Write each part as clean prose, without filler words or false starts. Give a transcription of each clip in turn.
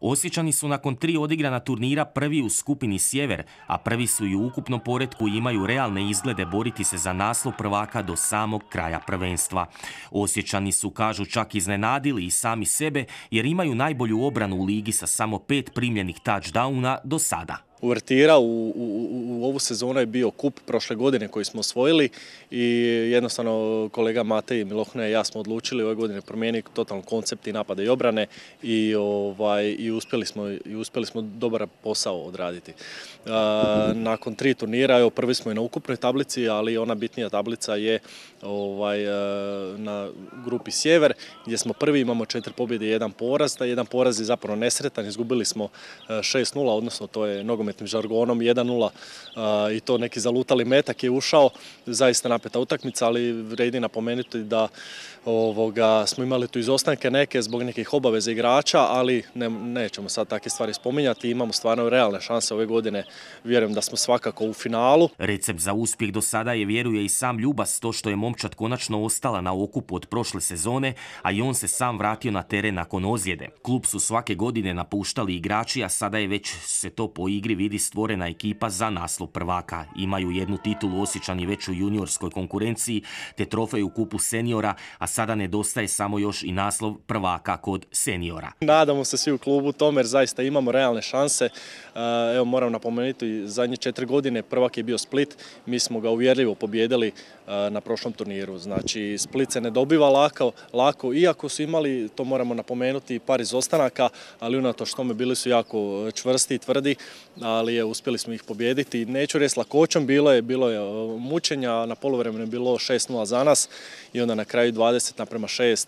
Osječani su nakon 3 odigrana turnira prvi u skupini Sjever, a prvi su i u ukupnom poretku i imaju realne izglede boriti se za naslov prvaka do samog kraja prvenstva. Osječani su, kažu, čak iznenadili i sami sebe jer imaju najbolju obranu u ligi sa samo 5 primljenih touchdowna do sada. Uvertira u ovu sezonu je bio kup prošle godine koji smo osvojili i jednostavno kolega Matej Milohne i ja smo odlučili ove godine promijeniti totalno koncept i napada i obrane i uspjeli smo dobar posao odraditi. Nakon 3 turnira, prvi smo i na ukupnoj tablici, ali ona bitnija tablica je na grupi Sjever gdje smo prvi, imamo 4 pobjede i 1 poraz. Taj 1 poraz je zapravo nesretan, izgubili smo 6-0, odnosno to je nogometnim žargonom 1-0 i to neki zalutali metak je ušao, zaista napeta utakmica, ali vredi napomenuti da smo imali tu izostanke neke zbog nekih obaveza igrača, ali nećemo sad takve stvari spominjati, imamo stvarno realne šanse ove godine, vjerujem da smo svakako u finalu. Recept za uspjeh do sada je, vjeruje i sam Ljubas, to što je momčad konačno ostala na okupu od prošle sezone, a i on se sam vratio na teren nakon ozljede. Klub su svake godine napuštali igrači, a sada je već se to po igri vidi stvorena ekipa za naslov prvaka. Imaju 1 titulu Osječani već u juniorskoj konkurenciji, te trofej u kupu seniora, a sada nedostaje samo još i naslov prvaka kod seniora. Nadamo se svi u klubu tome jer zaista imamo realne šanse. Evo, moram napomenuti, zadnje 4 godine prvak je bio Split, mi smo ga uvjerljivo pobijedili na prošlom turniru. Znači, Split se ne dobiva lako, iako su imali, to moramo napomenuti, par izostanaka, ali unatoč tome bili su jako čvrsti i tvrdi, ali uspjeli smo ih pobijediti. Neću reći lakoćom, bilo je mučenja, na poluvremenu je bilo 6-0 za nas i onda na kraju 20:6.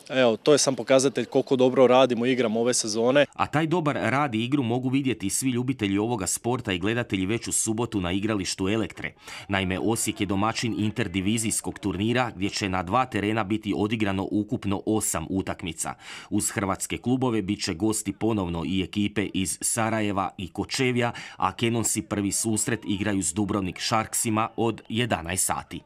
Evo, to je sam pokazatelj koliko dobro radimo i igramo ove sezone. A taj dobar rad i igru mogu vidjeti svi ljubitelji ovoga sporta i gledatelji već u subotu na igralištu Elektre. Naime, Osijek je domaćin interdivizijskog turnira gdje će na 2 terena biti odigrano ukupno 8 utakmica. Uz hrvatske klubove bit će gosti ponovno i ekipe iz Sarajeva i Kočevja, a Kenonsi prvi susret igraju s Dubrovnik Sharksima od 11 sati.